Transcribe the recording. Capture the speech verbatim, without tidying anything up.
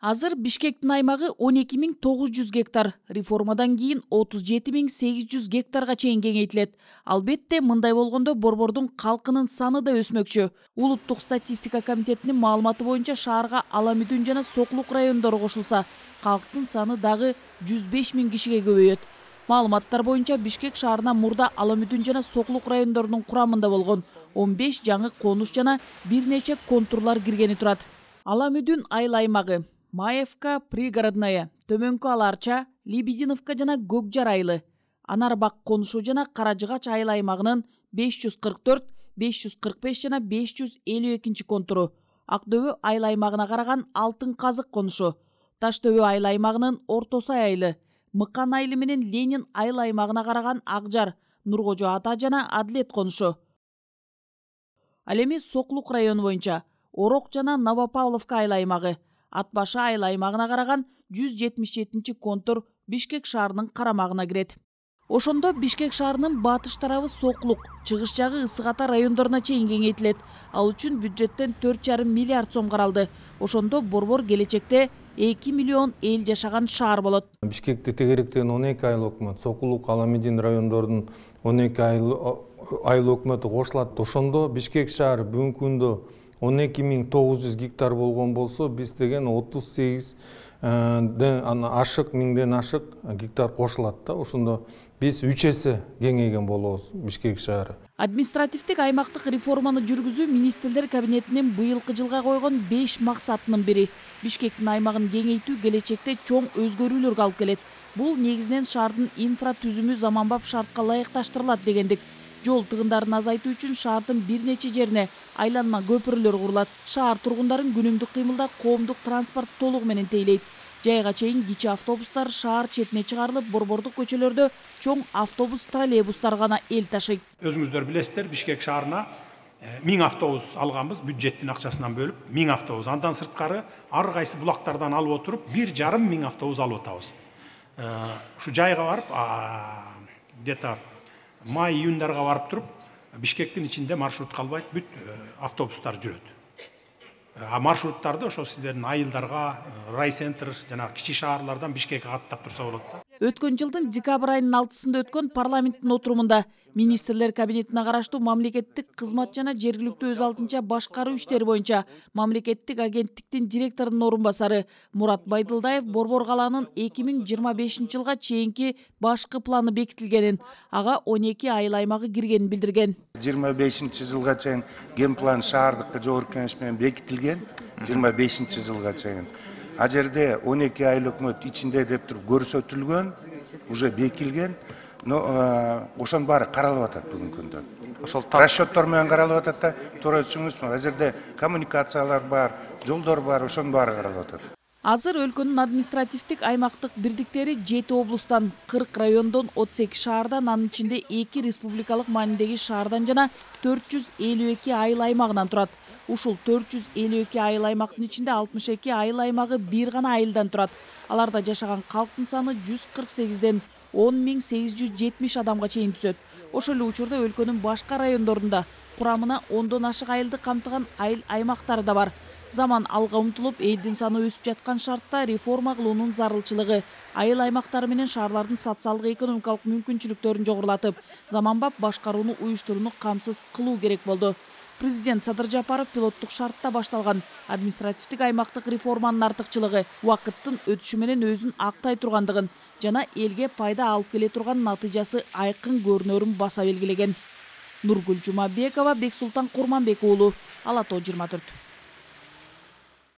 Азыр Бишкектин аймагы он эки миң тогуз жүз гектар, реформадан кийин отуз жети миң сегиз жүз гектарга чейин кеңейтилет. Албетте, мындай болгондо борбордун калкынын саны да өсмөкчү. Улуттук статистика комитетинин маалыматы боюнча шаарга Аламүдүн жана Соклук райондору кошулса, калктын саны дагы жүз беш миң кишиге көбөйөт. Маалыматтар боюнча Бишкек шаарына мурда Аламүдүн жана Соклук райондорунун курамында болгон он беш жаңы конуш жана бир нече контурлар киргени турат. Аламүдүн айыл аймагы Маевка, Пригородная, Төмөнкү Аларча, Лебединовка жана Көкжар айылы, Анарбак конушу жана Каражыгач айыл аймагынын беш жүз кырк төрт, беш жүз кырк беш жана беш жүз элүү экинчи контуру, Ак-Дөбө айыл аймагына караган Алтын Казык конушу, Таш-Дөбө айыл аймагынын Орто Сай айылы, Мыкан айылы менен Ленин айыл аймагына караган Акжар, Нуркожо Ата жана Адлет конушу. Ал эми Соклук району боюнча Орок жана Новопавловка айыл аймагы, Атбашы айыл аймагына караган жүз жетимиш жетинчи контур Бишкек шаарынын карамагына кирет. Ошондо Бишкек шаарынын батыш тарабы Соклук, чыгыш жагы Ысык Ата райондоруна чейин кеңейтилет. Ал үчүн бюджеттен төрт жарым миллиард сом каралды. Ошондо борбор келечекте эки миллион эл жашаган шаар болот. Бишкекте тегеректеген он эки айыл өкмөт, Соклук, Аламүдүн райондорунун он эки айыл өкмөтү кошулат. Ошондо Бишкек шаары бүгүнкү күндө он эки миң тогуз жүз гектар болгон болсо, биз деген отуз сегиз ашык миңден ашык гектар кошулат да. Ошондо биз үч эсе кеңейген болобуз Бишкек шаары. Административдик аймактык реформаны жүргүзүү министрлер кабинетинин быйылкы жылга койгон беш максатынын бири. Бишкектин аймагын кеңейтүү келечекте чоң өзгөрүүлөргө алып келет. Бул негизинен шаардын инфратүзүмү заманбап шартка ылайыкташтырылат дегендик. Жол тыгындарын азайтуу үчүн шаардын бир нече жерине айланма көпүрөлөр курулат. Шаар тургундарын күнүмдүк кыймылда коомдук транспорт толугу менен тейлейт. Жайга чейин кичи автобустар шаар четине чыгарылып, борбордук көчөлөрдө чоң автобус, троллейбустар гана эл ташыйт. Өзүңүздөр билесиздер, Бишкек шаарына миң автобус алганбыз, бюджеттин акчасынан бөлүп, миң автобус. Андан сырткары ар кайсы булактардан алып отуруп, бир жарым миң автобус алып атабыз. Ушу жайга барып, где-то май-июндарга барып туруп, Бишкектин ичинде маршрут калбайт, бүт автобустар жүрөт. А маршруттарды ошо сиздердин айылдарга, райцентр жана кичи шаарлардан Бишкекке каттап турса болот да. Өткөн жылдын декабрь айынын алтысында өткөн парламенттин отурумунда министрлер кабинетине караштуу мамлекеттик кызмат жана жергиликтүү өз алдынча башкаруу иштери боюнча мамлекеттик агенттиктин директорунун орун басары Мурат Байдылдаев борбор калаанын эки миң жыйырма бешинчи жылга чейинки башкы планы бекитилгенин, ага он эки айыл аймагы киргенин билдирген. жыйырма бешинчи жылга чейин генплан шаардык жогорку кеңеш менен бекитилген, жыйырма бешинчи жылга чейин. А жерде он эки айыл өкмөт ичинде деп туруп көрсөтүлгөн, уже бекилген, но ошонун баары каралып атат бүгүнкү күндө. Ошол расчеттор менен каралып атат да, туура түшүнүңүзбү? А жерде коммуникациялар бар, жолдор бар, ошонун баары каралып атат. Азыр өлкөнүн административдик аймактык бирдиктери жети облустан, кырк райондон, отуз эки шаардан, анын ичинде эки республикалык маанидеги шаардан жана төрт жүз элүү эки айыл аймагынан турат. Ушул төрт жүз элүү эки айыл аймактын ичинде алтымыш эки айыл аймагы бир гана айылдан турат. Аларда жашаган калктын саны жүз кырк сегизден он миң сегиз жүз жетимиш адамга чейин түзөт. Ошол эле учурда өлкөнүн башка райондорунда курамына ондон ашык айылды камтыган айыл аймактары да бар. Заман алга умтулуп, элдин саны өсүп жаткан шартта реформа кылуунун зарылчылыгы айыл аймактары менен шаарлардын социалдык экономикалык мүмкүнчүлүктөрүн жогорулатып, заманбап башкарууну уюштурууну камсыз кылуу керек болду. Президент Садыр Жапаров пилоттук шартта башталган административдик аймактык реформанын артыкчылыгы убакыттын өтүшү менен өзүн актай тургандыгын жана элге пайда алып келе турган натыйжасы айкын көрүнөрүн баса белгилеген. Нургүл Жумабекова, Бексултан Курманбек уулу, Ала Тоо жыйырма төрт.